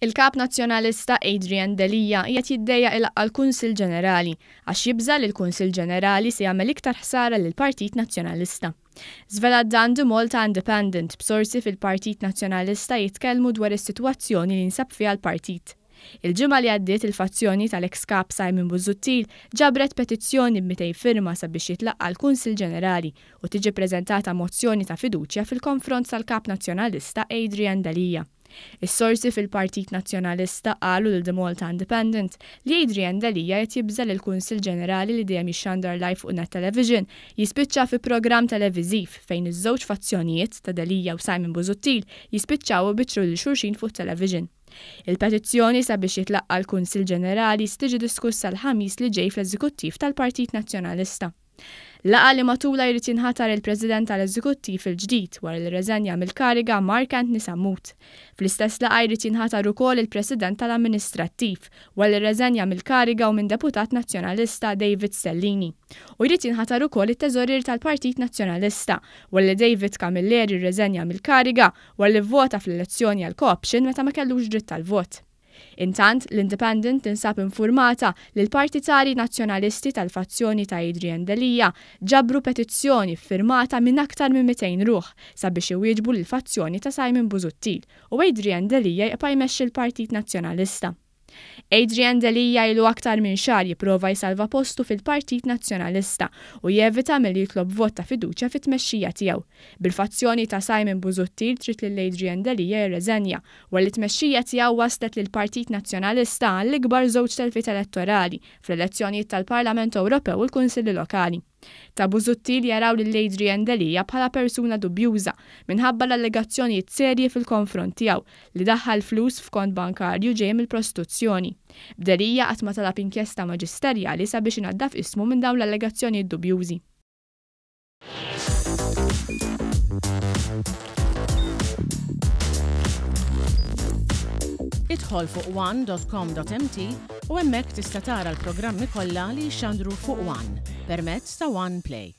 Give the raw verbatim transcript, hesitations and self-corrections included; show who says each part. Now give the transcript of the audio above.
Speaker 1: Il-Kap Nazzjonalista Adrian Delia qiegħed jiddejjaq ilaqqa' l-Kunsill Ġenerali għax jibża' li l-Kunsill Ġenerali se jagħmel iktar ħsara lill-Partit Nazzjonalista. Żvelat dan The Malta Independent, b'sorsi fil-Partit Nazzjonalista jitkellmu dwar is-sitwazzjoni li jinsab fiha l-partit. Il-ġimgħa li għaddiet, il-fazzjoni tal-ex kap Simon Busuttil ġabret petizzjoni b'mitejn firma sabiex jitlaqqa' l-Kunsill Ġenerali u tiġi preżentata mozzjoni ta' fiduċja fil-konfront tal-Kap Nazzjonalista Adrian Delia. Is-sorsi fil-Partit Nazzjonalista qalu lil The Malta Independent li Adrian Delia qed jibża' li l-Kunsill Ġenerali, li dejjem jixxandar live fuq Net Television, jispiċċa fi programm televiżiv fejn iż-żewġ fazzjonijiet ta' Delia u Simon Busuttil jispiċċaw ibiċċru lil xulxin fuq television. Il-petizzjoni sabiex jitlaqqa l-Kunsill Ġenerali tiġi diskussa l-Ħamis li ġej fl-Eżekuttiv tal-Partit Nazzjonalista. Laqgħa li matulha jrid jinħatar il-President tal-Eżekuttiv il-ġdid wara li rreżenja mill-kariga Mark Anthony Sammut. Fl-istess laqgħa jrid jinħatar ukoll il-President tal-Amministrattiv wara li rreżenja mill-kariga u minn deputat nazzjonalista David Stellini. U jrid jinħatar ukoll it-teżorier tal-Partit Nazzjonalista wara li David Camilleri rreżenja mill-kariga wara li vvota fl-elezzjoni għal co-option meta ma kellux dritt tal-vot. Intant, l-Independent tinsab informata li l-partitari nazzjonalisti tal-fazzjoni ta' Adrian Delia ġabru petizzjoni firmata minn aktar minn mitejn ruħ sabiex iwieġbu l-fazzjoni ta' Simon Busuttil u Adrian Delia jibqa' jmexxi l-Partit Nazzjonalista. Adrian Delia ilu aktar minn xahar jipprova jsalva postu fil-Partit Nazzjonalista u jevita milli jitlob vot ta' fiduċja fit-tmexxija tiegħu. Bil-fazzjoni ta' Simon Busuttil trid lil Adrian Delia jirreżenja wara li t-tmexxija tiegħu waslet lil Partit Nazzjonalista għall-ikbar żewġ telfiet elettorali fl-elezzjonijiet tal-Parlament Ewropew u l-Kunsilli Lokali. Ta' Busuttil jaraw lil Adrian Delia bħala persuna dubjuża minħabba l-allegazzjonijiet serji fil-konfront tiegħu li daħħal flus f'kont bankarju ġej mill-prostituzzjoni. B'Delia qatt ma talab inkjesta maġisterjali sabiex inaddaf ismu minn dawn l-allegazzjonijiet dubjużi.
Speaker 2: Idħol fuq one dot com dot M T u hemmhekk tista' tara l-programmi kollha li jixxandru fuq One permezz ta' One Play.